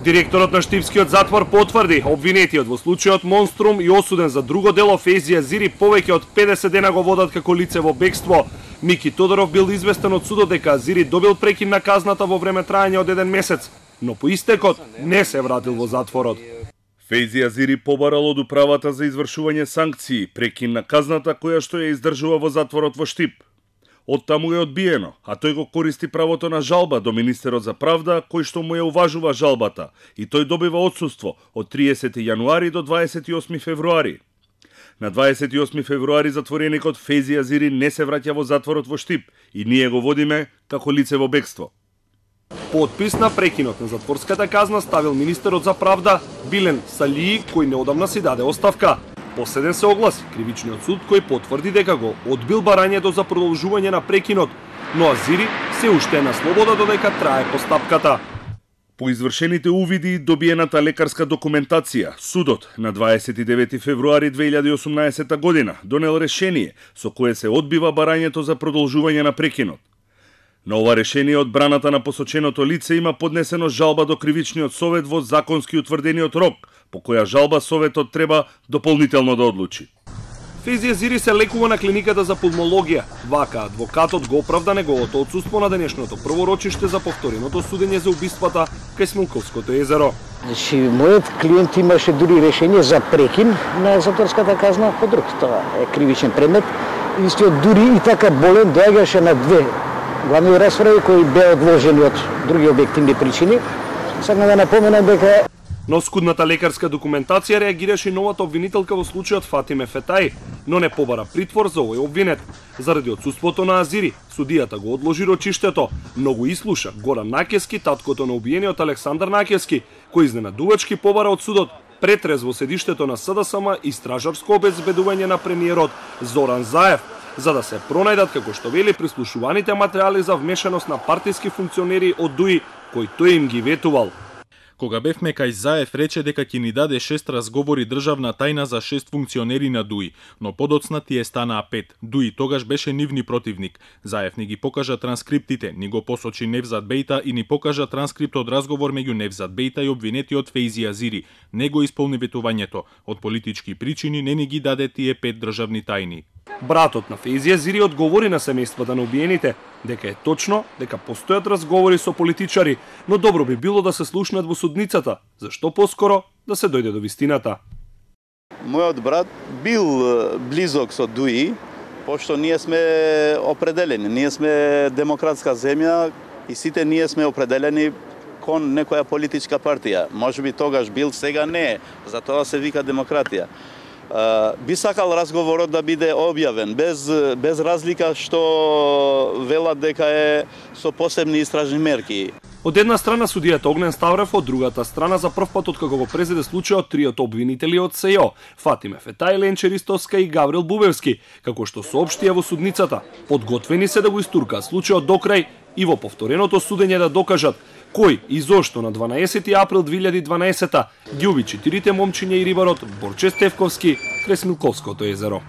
Директорот на Штипскиот затвор потврди, обвинетиот во случајот Монструм и осуден за друго дело Фејзи Азири повеќе од 50 дена го водат како лице во бегство. Мики Тодоров бил известен од судот дека Азири добил прекин на казната во време траење од 1 месец, но по истекот не се вратил во затворот. Фејзи Азири побарал од управата за извршување санкции прекин на казната која што ја издржува во затворот во Штип. Оттаму е одбиено, а тој го користи правото на жалба до Министерот за правда, кој што му ја уважува жалбата, и тој добива отсуство од 30 јануари до 28 февруари. На 28 февруари затвореникот Фејзи Азири не се враќа во затворот во Штип и ние го водиме како лице во бегство. Подпис на прекинот на затворската казна ставил Министерот за правда Билен Салии, кој неодамна си даде оставка. Последен се огласи кривичниот суд кој потврди дека го одбил барањето за продолжување на прекинот, но Азири се уште е на слобода додека трае постапката. По извршените увиди и добиената лекарска документација, судот на 29 февруари 2018 година донел решение со кое се одбива барањето за продолжување на прекинот. На ова решение одбраната на посоченото лице има поднесено жалба до Кривичниот совет во законски утврдениот рок, по која жалба советот треба дополнително да одлучи. Фејзи Азири се лекува на клиниката за пулмологија. Вака адвокатот го оправда неговото отсуство на денешното прво рочиште за повтореното судење за убиствата кај Смилковското езеро. Мојот клиент имаше дури решение за прекин на затворската казна по друг. Тоа е кривичен предмет. Истиот дури и така болен доаѓаше на две главни расправи кои беа одложени од други објективни причини. Сакам да напоменам дека на оскудната лекарска документација реагираше и новата обвинителка во случајот Фатиме Фетаи, но не побара притвор за овој обвинет. Заради отсуството на Азири, судијата го одложи рочиштето, но го ислуша Горан Накески, таткото на убиениот Александар Накески, кој изненадувачки побара од судот претрез во седиштето на СДСМ и стражарско обезбедување на премиерот Зоран Заев, за да се пронајдат, како што вели, прислушуваните материјали за вмешаност на партиски функционери од ДУИ, кои тој им ги ветувал. Кога бевме кај Заев рече дека ќе ни даде 6 разговори државна тајна за 6 функционери на ДУИ, но подоцна тие станаа 5. ДУИ тогаш беше нивни противник. Заев ни ги покажа транскриптите, ни го посочи Невзат Бејта и ни покажа транскрипт од разговор меѓу Невзат Бејта и обвинетиот Фејзи Азири. Не го исполни ветувањето. Од политички причини не ни ги даде тие 5 државни тајни. Братот на Фејзи Азири одговори на семејствата на убиените дека е точно дека постојат разговори со политичари, но добро би било да се слушнат во судницата, зашто поскоро да се дојде до вистината. Мојот брат бил близок со ДУИ, пошто ние сме определени, ние сме демократска земја и сите ние сме определени кон некоја политичка партија. Можеби тогаш бил, сега не, затоа се вика демократија. Би сакал разговорот да биде објавен, без разлика што велат дека е со посебни истражни мерки. Од една страна судијата Огнен Ставрев, од другата страна за прв пат откако го презеде случајот триото обвинители од СЈО, Фатиме Фетаи, Ленче Ристовска и Гаврил Бубевски, како што соопштија во судницата, подготвени се да го истуркаат случајот до крај и во повтореното судење да докажат кој и зошто на 12 април 2012 ги уби 4 момчиња и рибарот Борче Стефковски крај Смилковското езеро.